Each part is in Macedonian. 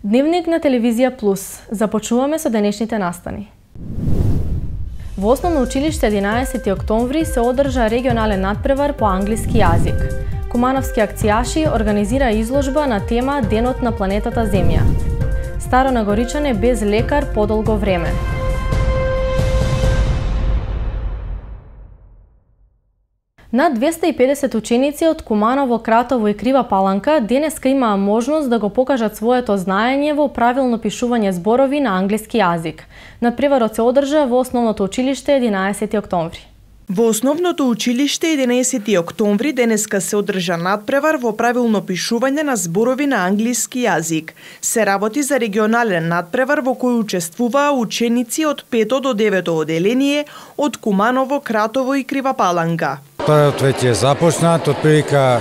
Дневник на телевизија Плюс. Започнуваме со денешните настани. Во Основно училиште 11 октомври се одржа регионален надпревар по англиски јазик. Кумановски акцијаши организира изложба на тема Денот на планетата Земја. Старо Нагоричане без лекар подолго време. Над 250 ученици од Куманово, Кратово и Крива Паланка денеска имаа можност да го покажат своето знаење во правилно пишување зборови на англиски јазик. Надпреварот се одржа во Основното училиште 11 октомври. Во Основното училиште 11 октомври денеска се одржа надпревар во правилно пишување на зборови на англиски јазик. Се работи за регионален надпревар во кој учествуваа ученици од 5 до 9 оделение од Куманово, Кратово и Крива Паланка. Парот веќе е започнат, од прилика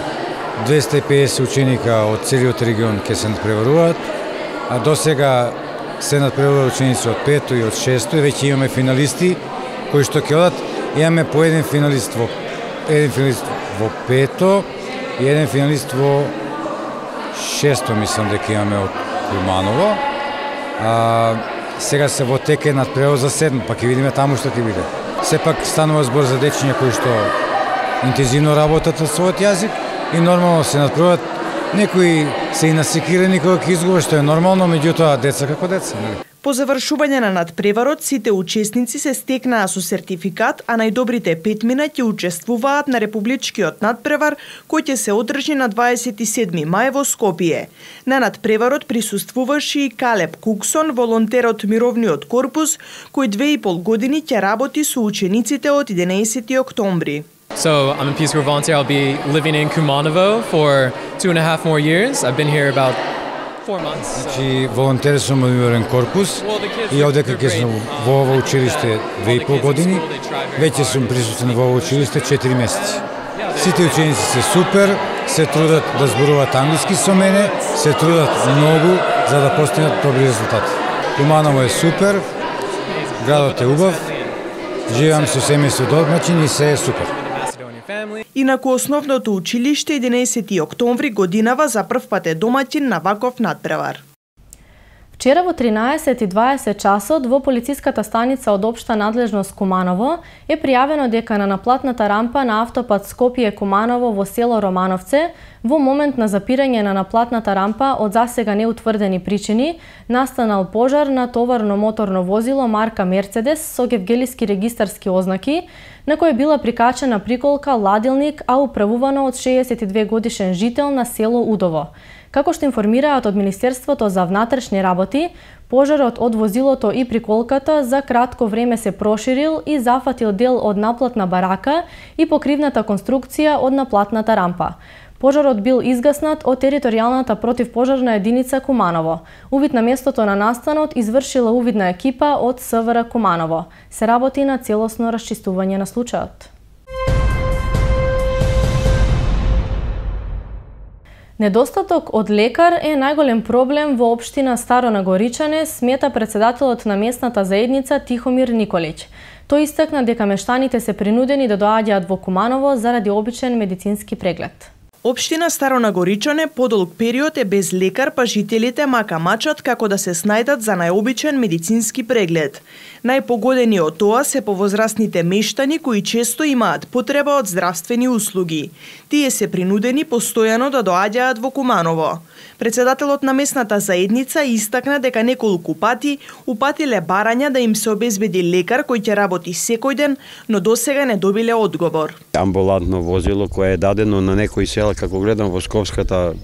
250 ученика од целиот регион ќе се надпреваруваат, а до сега се надпреваруваат ученици од 5 и од 6 и веќе имаме финалисти кои што ќе одат. Имаме по еден финалист во 5 и еден финалист во 6, мислам дека имаме од Куманово. Сега се во теке надпревар за 7, па ќе видиме таму што ќе биде. Сепак станува збор за дечиња кои што интензивно работат на својот јазик и нормално се надпреварат. Некои се и насекирани кога ќе изгубат, што е нормално, меѓутоа деца како деца, нели? По завршување на надпреварот, сите учесници се стекнаа со сертификат, а најдобрите 5 ќе учествуваат на републичкиот надпревар, кој ќе се одржи на 27 мај во Скопје. На надпреварот присуствуваше и Калеб Куксон, волонтер од Мировниот корпус, кој 2,5 години ќе работи со учениците од 11 октомври. So I'm a Peace Corps volunteer. I'll be living in Kumanovo for 2.5 more years. I've been here about 4 months. Значи, волонтер сум од Мировен корпус и одека ќе сум во ово училиште 2,5 години, веќе сум присутен во ово училиште 4 месеци. Сите ученици се супер, се трудат да зборуваат англиски со мене, се трудат многу за да постигнат добри резултати. Куманово е супер, градот е убав, живеам со семејство домаќин и се е супер. Инаку Основното училиште 11 октомври годинава за прв пат е домаќин на ваков надпревар. Вчера во 13:20 часот во полициската станица од општа надлежност Куманово е пријавено дека на наплатната рампа на автопат Скопје-Куманово во село Романовце во момент на запирање на наплатната рампа од засега неутврдени причини настанал пожар на товарно моторно возило марка Мерцедес со гевгелиски регистарски ознаки, на кој била прикачена приколка ладилник, а управувано од 62 годишен жител на село Удово. Како што информираат од Министерството за внатрешни работи, пожарот од возилото и приколката за кратко време се проширил и зафатил дел од наплатна барака и покривната конструкција од наплатната рампа. Пожарот бил изгаснат од територијалната противпожарна единица Куманово. Увид на местото на настанот извршила увидна екипа од СВР Куманово. Се работи на целосно расчистување на случајот. Недостаток од лекар е најголем проблем во општина Старо Нагоричане, смета председателот на местната заедница Тихомир Николич. Тој истакна дека мештаните се принудени да доаѓаат во Куманово заради обичен медицински преглед. Општина Старо Нагоричане подолг период е без лекар, па жителите мака мачат како да се снајдат за најобичен медицински преглед. Најпогодени од тоа се повозрастните мештани кои често имаат потреба од здравствени услуги. Тие се принудени постојано да доаѓаат во Куманово. Председателот на местната заедница истакна дека неколку пати упатиле барања да им се обезбеди лекар кој ќе работи секој ден, но досега не добиле одговор. Амбулантно возило кое е дадено на некои села, како гледам во Скопската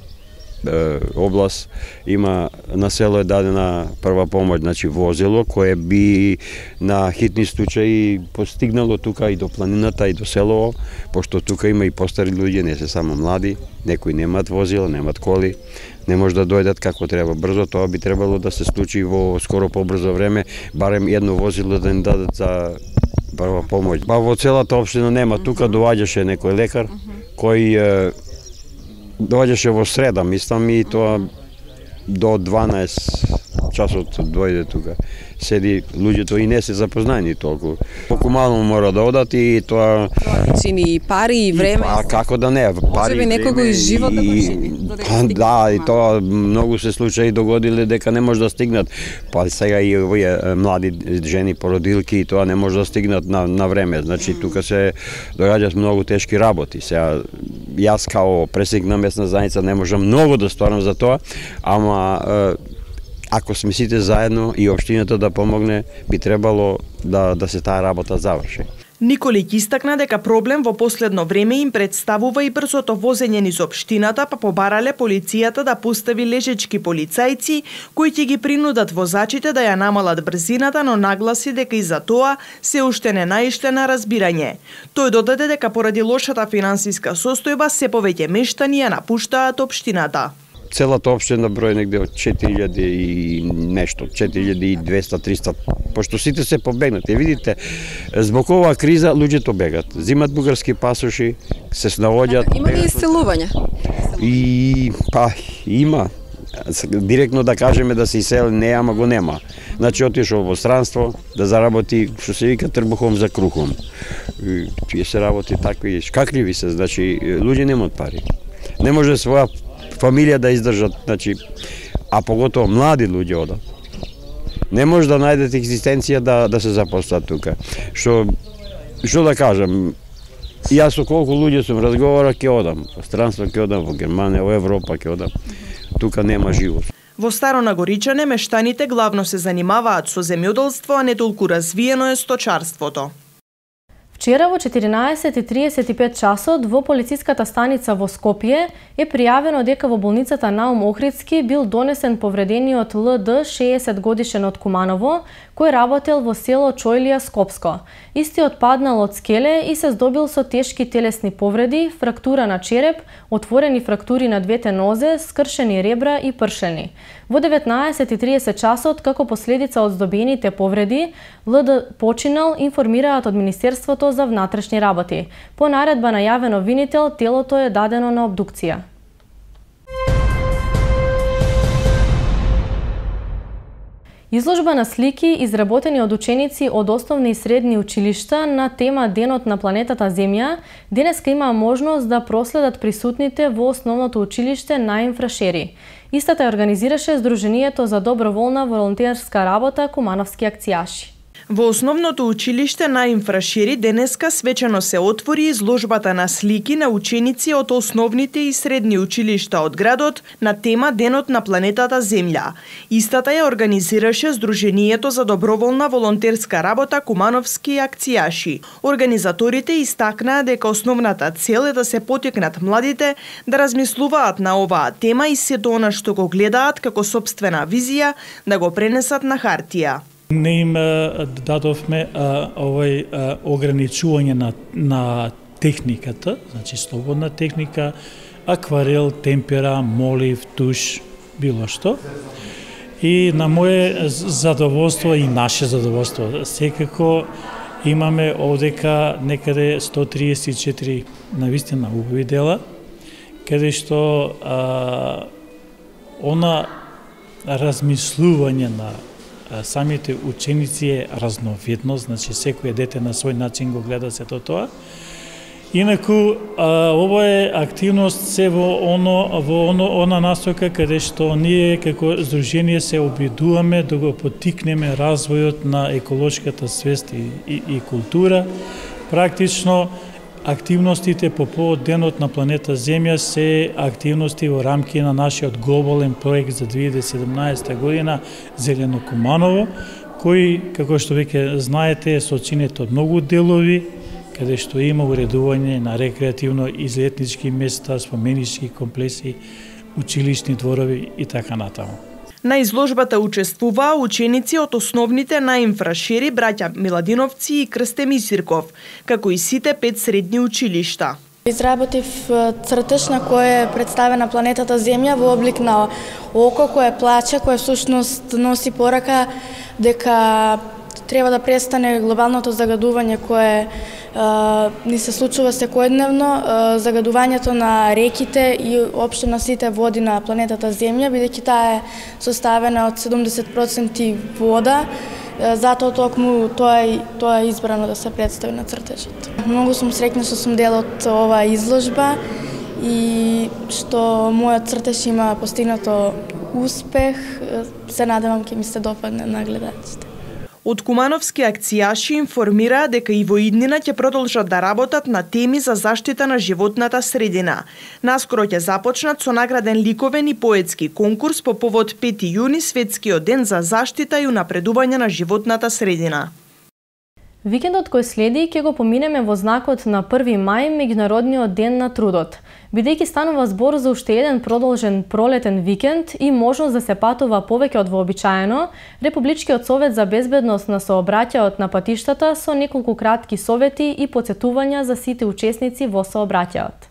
област, има на село е дадена прва помош, значи возило кое би на хитни случаи постигнало тука и до планината и до селово, пошто тука има и постари луѓе, не се само млади, некои немаат возила, немаат коли, не може да дојдат како треба брзо, тоа би требало да се случи во скоро побрзо време, барем едно возило да им дадат за прва помош. Па во целата општина нема, тука доаѓаше некој лекар кој доаѓаше во среда, мислам, и тоа до 12 часот дојде тука. Седи луѓето и не се запознаени толку. Колку мало мора да одат и тоа чини и пари и време. А како да не, пари. Може би некого и живот да го чини. Да, и тоа многу се случаи догодиле дека не може да стигнат. Па сега и овие млади жени породилки и тоа не може да стигнат на време. Значи тука се догаѓаат многу тешки работи. Сега јас као пресник на местна заедница не можам многу да сторам за тоа, ама ако сме сите заедно и општината да помогне, би требало да се таа работа заврши. Николиќ истакна дека проблем во последно време им представува и брзото возење низ општината, па побарале полицијата да постави лежечки полицајци кои ќе ги принудат возачите да ја намалат брзината, но нагласи дека и за тоа се уште не наишле на разбирање. Тој додаде дека поради лошата финансиска состојба се повеќе мештани ја напуштаат општината. Целата општина број негде од 4000 и нешто, 4200-300, пошто сите се побегнати. Видите, због оваа криза луѓето бегат, зимат бугарски пасоши, се снаоѓаат. Има ли иселување? И па има. Директно да кажеме да се исели не, ама го нема. Значи отишол во странство да заработи, што се вика, трбухом за крухом. Тие се работи такви шкакливи се, значи луѓе немаат пари. Не може своја фамилија да издржат, значи, а поготово млади луѓе одат. Не може да најдете екзистенција да се запослат тука. Што да кажам, јас со колку луѓе сум разговора ќе одам, во странство ќе одам, во Германија, во Европа ќе одам. Тука нема живот. Во Старо Нагоричане мештаните главно се занимаваат со земјоделство, а не толку развиено е сточарството. Вчера во 14:35 часот во полициската станица во Скопје е пријавено дека во болницата Наум Охридски бил донесен повредениот ЛД 60 годишен од Куманово, кој работел во село Чојлија, Скопско. Истиот паднал од скеле и се здобил со тешки телесни повреди, фрактура на череп, отворени фрактури на двете нозе, скршени ребра и пршени. Во 19:30 часот, како последица од здобиените повреди, ЛД починал, информираат од Министерството за внатрешни работи. По наредба на јавен обвинител, телото е дадено на обдукција. Изложба на слики, изработени од ученици од основни и средни училишта на тема Денот на планетата Земја, денеска има можност да проследат присутните во основното училиште Наим Фрашери. Истата ја организираше Сдруженијето за доброволна волонтерска работа Кумановски акцијаши. Во основното училиште Наим Фрашери денеска свечено се отвори изложбата на слики на ученици од основните и средни училишта од градот на тема Денот на планетата Земја. Истата ја организираше Сдруженијето за доброволна волонтерска работа Кумановски акцијаши. Организаторите истакнаа дека основната цел е да се поттикнат младите да размислуваат на оваа тема и сето она што го гледаат како сопствена визија да го пренесат на хартија. Не им дадовме ограничување на техниката, значи слободна техника, акварел, темпера, молив, туш, било што. И на моје задоволство и наше задоволство, секако имаме овдека некаде 134 навистина убави дела, каде што она размислување на самите ученици е разновидно, значи секој дете на свој начин го гледа сето тоа. Инаку, ова е активност се во она насока каде што ние како здружение се обидуваме да го поттикнеме развојот на еколошката свест и култура. Практично, активностите по повод Денот на планета Земја се активности во рамки на нашиот глобален проект за 2017 година Зелено Куманово, кој, како што веќе знаете, е сочинет од многу делови, каде што има уредување на рекреативно излетнички места, споменички комплекси, училишни дворови и така натаму. На изложбата учествуваа ученици од основните Наим Фрашери, браќа Миладиновци и Крсте Мисирков, како и сите 5 средни училишта. Изработив цртеж на кој е представена планетата Земја во облик на око кое плаче, кое всушност носи порака дека Треба да престане глобалното загадување кое ни се случува секојдневно, загадувањето на реките и општо на сите води на планетата Земја, бидејќи таа е составена од 70% вода. Затоа токму тоа е избрано да се представи на цртежот. Многу сум среќна што сум дел од оваа изложба и што мојот цртеж има постигнато успех. Се надевам ќе ми се допадне на гледачите. Од кумановски акцијаши информираа дека и во иднина ќе продолжат да работат на теми за заштита на животната средина. Наскоро ќе започнат со награден ликовен и поетски конкурс по повод 5 јуни, светскиот ден за заштита и унапредување на животната средина. Викендот кој следи ќе го поминеме во знакот на 1 мај, меѓународниот ден на трудот. Бидејќи станува збор за уште еден продолжен пролетен викенд и можност да се патува повеќе од вообичаено, Републичкиот совет за безбедност на сообраќајот на патиштата со неколку кратки совети и потсетувања за сите учесници во сообраќајот.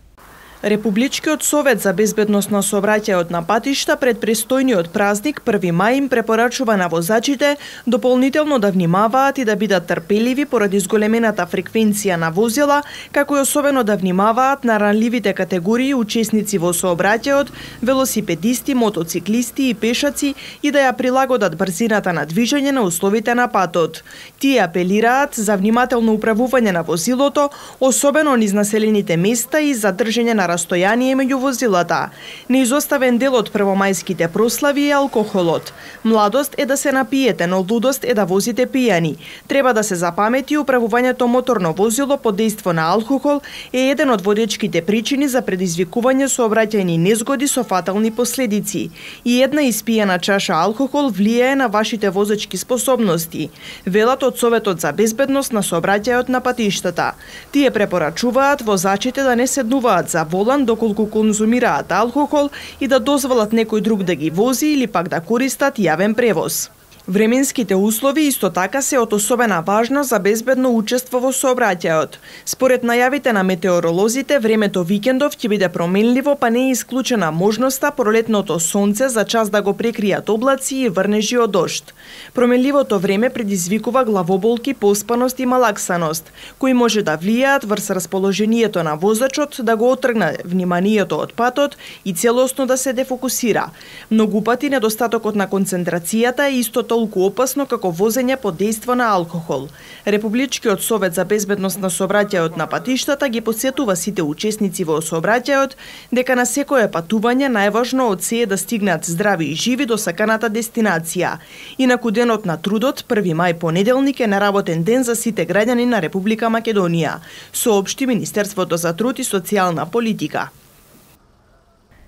Републичкиот совет за безбедност на сообраќајот на патишта пред престојниот празник 1 мај им препорачува на возачите дополнително да внимаваат и да бидат трпеливи поради зголемената фреквенција на возила, како и особено да внимаваат на ранливите категории учесници во сообраќајот, велосипедисти, мотоциклисти и пешаци и да ја прилагодат брзината на движење на условите на патот. Тие апелираат за внимателно управување на возилото, особено низ населените места и за држење на растојание меѓу возилата. Неизоставен дел од првомајските прослави е алкохолот. Младост е да се напиете, но лудост е да возите пијани. Треба да се запамети управувањето моторно возило под дејство на алкохол е еден од водечките причини за предизвикување сообраќајни незгоди со фатални последици. И една испиена чаша алкохол влијае на вашите возачки способности, велат од Советот за безбедност на сообраќајот на патиштата. Тие препорачуваат возачите да не седнуваат за волан доколку конзумираат алкохол и да дозволат некој друг да ги вози или пак да користат јавен превоз. Временските услови исто така се од особена важност за безбедно учество во сообраќајот. Според најавите на метеоролозите, времето викендов ќе биде променливо, па не е исклучена можноста пролетното сонце за час да го прекријат облаци и врнежи од дожд. Променливото време предизвикува главоболки, поспаност и малаксаност, кои може да влијаат врз расположението на возачот да го отргне вниманието од патот и целосно да се дефокусира. Многу пати недостатокот на концентрацијата е исто толку опасно како возење под дејство на алкохол. Републичкиот совет за безбедност на сообраќајот на патиштата ги потсетува сите учесници во сообраќајот дека на секое патување најважно од се е да стигнат здрави и живи до саканата дестинација. Инаку денот на трудот, 1 мај понеделник е неработен ден за сите граѓани на Република Македонија, соопшти Министерството за труд и социјална политика.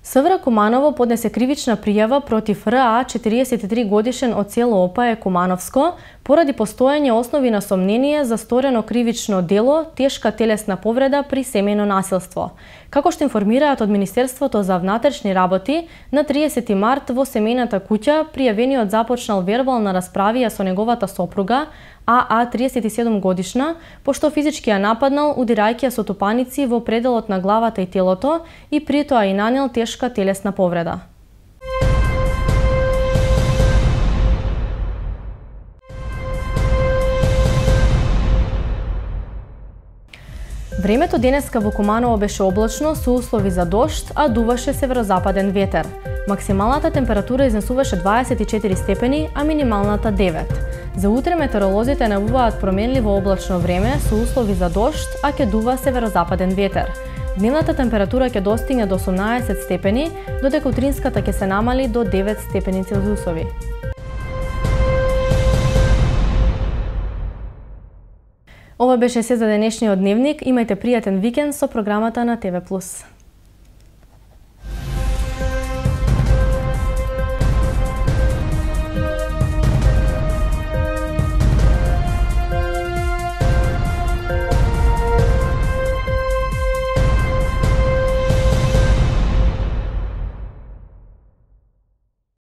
СВР Куманово поднесе кривична пријава против РА 43 годишен од село Опае, Кумановско, поради постоење основи на сомнение за сторено кривично дело, тешка телесна повреда при семејно насилство. Како што информираат од Министерството за внатрешни работи, на 30 март во семејната куќа пријавениот започнал вербална расправија со неговата сопруга, АА 37 годишна, пошто физички ја нападнал удирајќи ја со тупаници во пределот на главата и телото и при тоа и нанел тешка телесна повреда. Времето денеска во Куманово беше облачно со услови за дожд, а дуваше северозападен ветер. Максималната температура изнесуваше 24 степени, а минималната 9. За утре метеоролозите најавуваат променливо облачно време со услови за дожд, а ќе дува северозападен ветер. Дневната температура ќе достигне до 18 степени, додека утринската ќе се намали до 9 степени Целзиусови. Ова беше се за денешниот дневник. Имајте пријатен викенд со програмата на ТВ+.